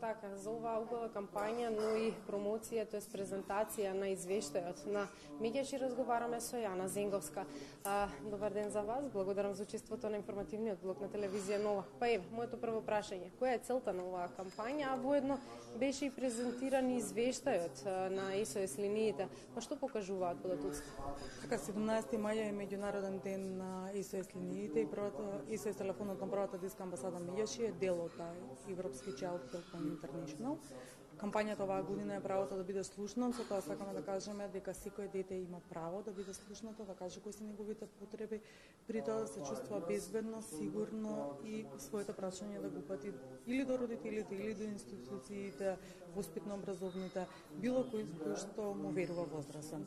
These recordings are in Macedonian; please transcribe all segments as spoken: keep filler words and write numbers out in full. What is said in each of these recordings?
Така, за оваа убава кампања, но и промоција, тоест презентација на извештајот на Меѓаши разговараме со Јана Зенговска. А, добар ден за вас, благодарам за учеството на информативниот блок на телевизија Нова. Па еве, моето прво прашање, која е целта на оваа кампања, а воедно беше и презентиран извештајот на ес о ес линиите. Па што покажуваат податоците? Така, седумнаесети мај е меѓународен ден на ес о ес линиите и првата ес о ес телефонот на првата детска амбасада Меѓаши е дел од таа Европски Child Helpline International. Кампањата оваа година е правото да биде слушнат, со тоа сакаме да кажеме дека секој дете има право да биде слушнато, да каже кои се неговите потреби, при тоа да се чувствува безбедно, сигурно и своите прашања да го упати или до родителите, или до институциите, воспитно-образовните, било кој кој што му верува возрастен.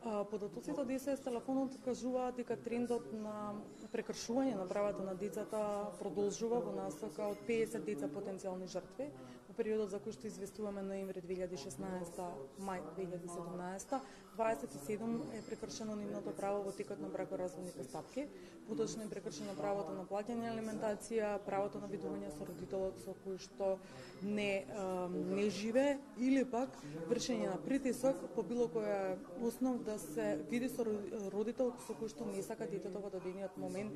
Податоците од ес о ес телефонот кажуваат дека трендот на прекршување на правата на децата продолжува во насока од педесет деца потенцијални жртви. Во периодот за кој што известуваме ноември две илјади и шеснаесета, мај две илјади и седумнаесета, дваесет и седум е прекршено нивното право во текот на бракоразводни постапки. Поточно е прекршено правото на плаќање алиментација, правото на видување со родителот со кој што не не живее, или пак вршење на притисок по било која основ да се види со родител со кој што не сака детето во дадениот момент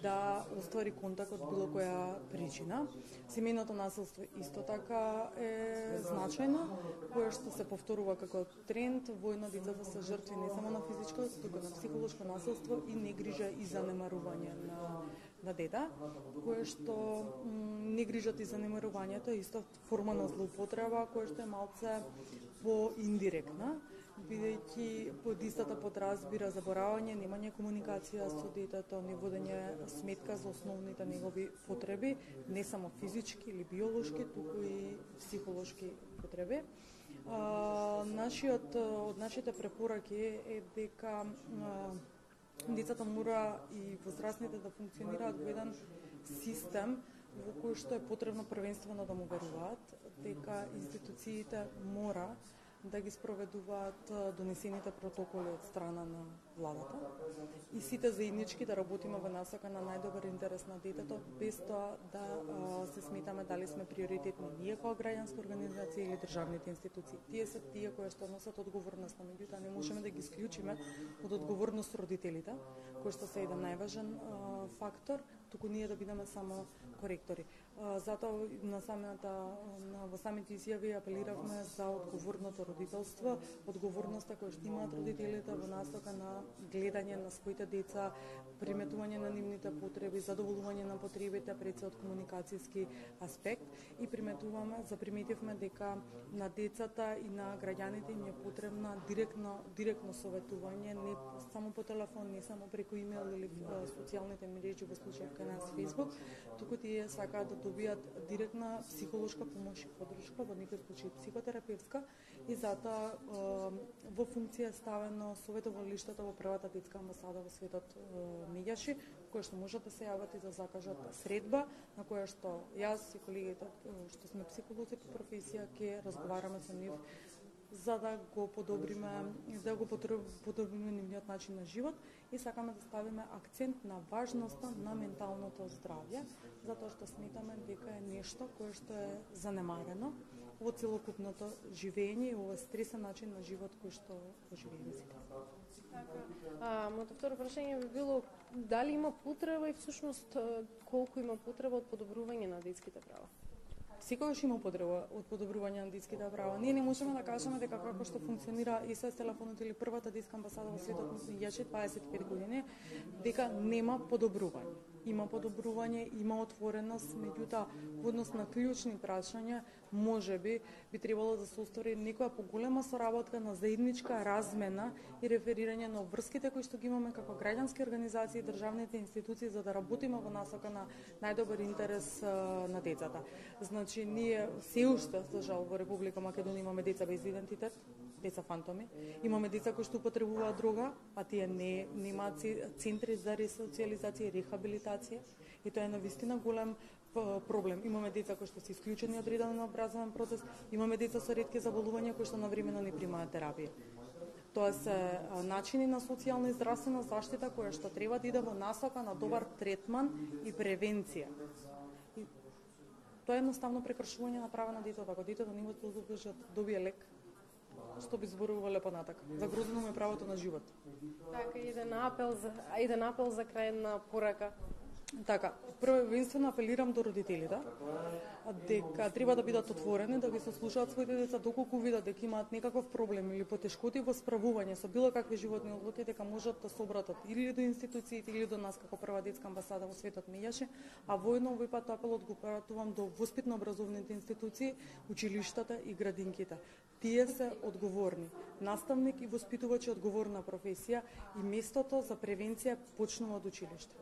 да оствари контакт од било која причина. Семејното насилство исто така е значајно, кое што се повторува како тренд. Воедно децата се жртви не само на физичко, туку на психолошко насилство и негрижа и занемарување на на дете, кое што негрижат и занемарувањето е исто форма на злоупотреба, кое што е малце поиндиректна, бидејќи под истата подразбира заборавање, немање комуникација со детето, не водење сметка за основните негови потреби, не само физички или биолошки, туку и психолошки потреби. А, нашиот, од нашите препораки е дека а, децата мора и возрастните да функционираат во еден систем во кој што е потребно првенствено да му веруваат, дека институциите мора да ги спроведуваат донесените протоколи од страна на владата и сите заеднички да работиме во насока на најдобар интерес на детето, без тоа да а, се сметаме дали сме приоритетни ние како граѓанска организација или државните институции. Тие се тие кои што носат одговорност, меѓутоа не можеме да ги исклучиме од одговорност родителите, кои што се еден најважен а, фактор, туку ние да бидеме само коректори. А, затоа на самата на во самите изјави апелиравме за одговорното родителство, одговорноста која што имаат родителите во насока на гледање на своите деца, приметување на нивните потреби, задоволување на потребите пред се од комуникацијски аспект и приметуваме, заприметивме дека на децата и на граѓаните им е потребна директно директно советување, не само по телефон, не само преку имејл или социјалните мрежи, во случај кај нас Facebook, туку тие сакаат да добијат директна психолошка помош и поддршка, во некој случај психотерапевтска, и затоа во функција ставено советовалиштата во првата детска амбасада во светот Меѓаши, кои што можат да се јават и да закажат средба, на која што јас и колегите што сме психолози по професија ќе разговараме со нив за да го подобриме, да го подобриме нивниот начин на живот и сакаме да ставиме акцент на важноста на менталното здравје, затоа што сметаме дека е нешто кое што е занемарено во целокупното живење и во стресен начин на живот кој што го живееме сите. Така, а, моето второ прашање би било дали има потреба и всушност колку има потреба од подобрување на детските права? Секогаш има потреба од подобрување на детските права. Ние не можеме да кажеме дека како што функционира ес о ес телефонот или првата детска амбасада во светот Меѓаши дваесет и пет години, дека нема подобрување. Има подобрување, има отвореност, меѓутоа во однос на клучни прашања можеби би требало да се оствари некоја поголема соработка на заедничка размена и реферирање на обврските кои што ги имаме како граѓански организации и државните институции за да работиме во насока на најдобар интерес на децата. Значи, ние се уште, за жал, во Република Македонија имаме деца без идентитет, деца фантоми. Имаме деца кои што употребуваат дрога, а тие не немаат центри за ресоциализација и рехабилитација. И тоа е навистина голем проблем. Имаме деца кои што се исклучени од редовен образовен процес, имаме деца со ретки заболувања кои што навремено не примаат терапија. Тоа се начини на социјална и здравствена заштита која што треба да иде во насока на добар третман и превенција. Тоа е едноставно прекршување на права на детето. Ако детето нема да добие лек, што би зборувале понатака. Загрозено му е правото на живот. Така, еден апел за еден апел за крајна порака. Така, првенствено апелирам до родителите дека треба да бидат отворени, да ги сослушаат своите деца доколку видат дека имаат некаков проблем или потешкоти во справување со било какви животни одлуки, дека можат да се обратат или до институциите или до нас како прва детска амбасада во светот Меѓаши, а воедно овој пат апелот го пратувам до воспитно-образовните институции, училиштата и градинките. Тие се одговорни. Наставник и воспитувач е одговорна професија и местото за превенција почнува од училиште.